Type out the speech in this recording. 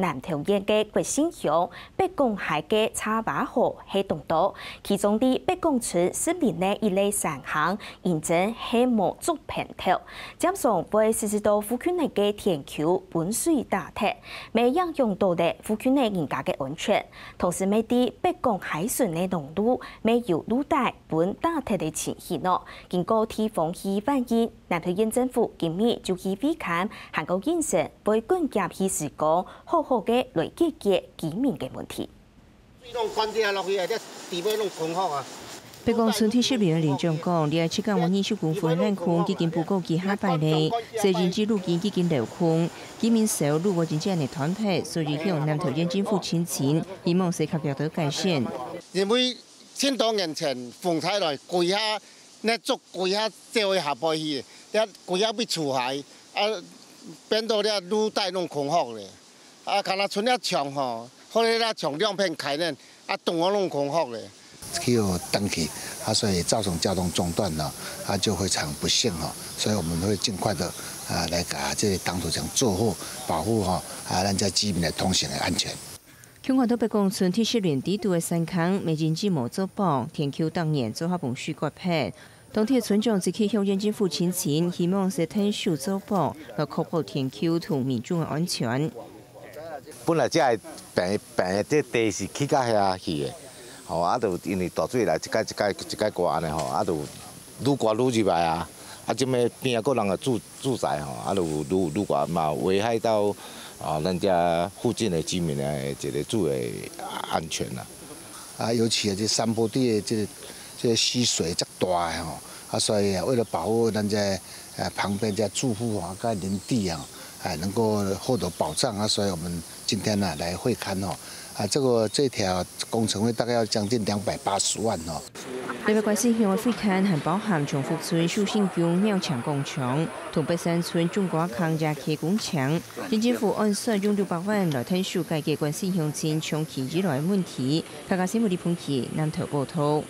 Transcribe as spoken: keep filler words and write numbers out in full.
南投縣个國姓鄉北港溪个茶椏河係當多，其中在北港村十里內一个山坑，因真係無竹棚頭，常常會時時到附近个田坵分水打忒，乜影響到了附近个人家个安全。同時，乜在北港溪脣个農路，乜有路帶分打忒个情形哦。經過地方去反映， 南投縣政府今日就去會勘，還過應承會趕緊去施工，好好个來解決居民个問題。水攏灌跌落去啊，這地尾攏空殼啊。北港村第十里个里長講，這七甲二十公分个爛空已經布過幾下擺了，細人仔路徑已經鏤空，居民愁路無真正个斷忒，所以向南投縣政府申請，希望係較遽到改善。因為千多年前風颱來，幾下 該竹規下走去下背去，這規下被除害，啊，變到這路帶攏空殼咧。啊，敢若賰這牆吼，好咧，這牆兩片開呢，啊，洞仔攏空殼咧。去有斷去，啊，所以造成交通中斷了，啊，就非常不幸哈。所以我們會盡快的啊，來把這些擋土牆做好，保護哈，啊，咱這居民的通行的安全。 共看到北港村第十里底肚个山坑，乜因為無做保，田坵逐年做下分水割忒。當地个村長就去向縣政府申請，希望係𢯭手做保，來確保田坵同民眾个安全。本來這个平平个這地是起到遐去个，吼，啊，就因為大水來，一改一改一改割按呢吼，啊，就愈割愈入來啊，啊，這邊邊仔个人个住 住宅吼，啊，愈愈愈大嘛，危害到啊，咱遮附近的居民的一个住的安全啦。啊，尤其啊，這山坡地的這个這个溪水遮大的吼，啊，所以啊，為了保護咱這呃旁邊這住戶啊，跟鄰里啊，哎，能夠獲得保障啊，所以我們今天呢來會勘吼，啊，這個這條工程費大概要將近兩百八十萬吼。 這擺關姓鄉个會勘還包含長福村秀信宮廟前廣場、同北山村種瓜坑野溪工程，縣政府按算用六百萬來𢯭手解決關姓鄉親長期以來个問題。客家新聞李鵬奇南投報導。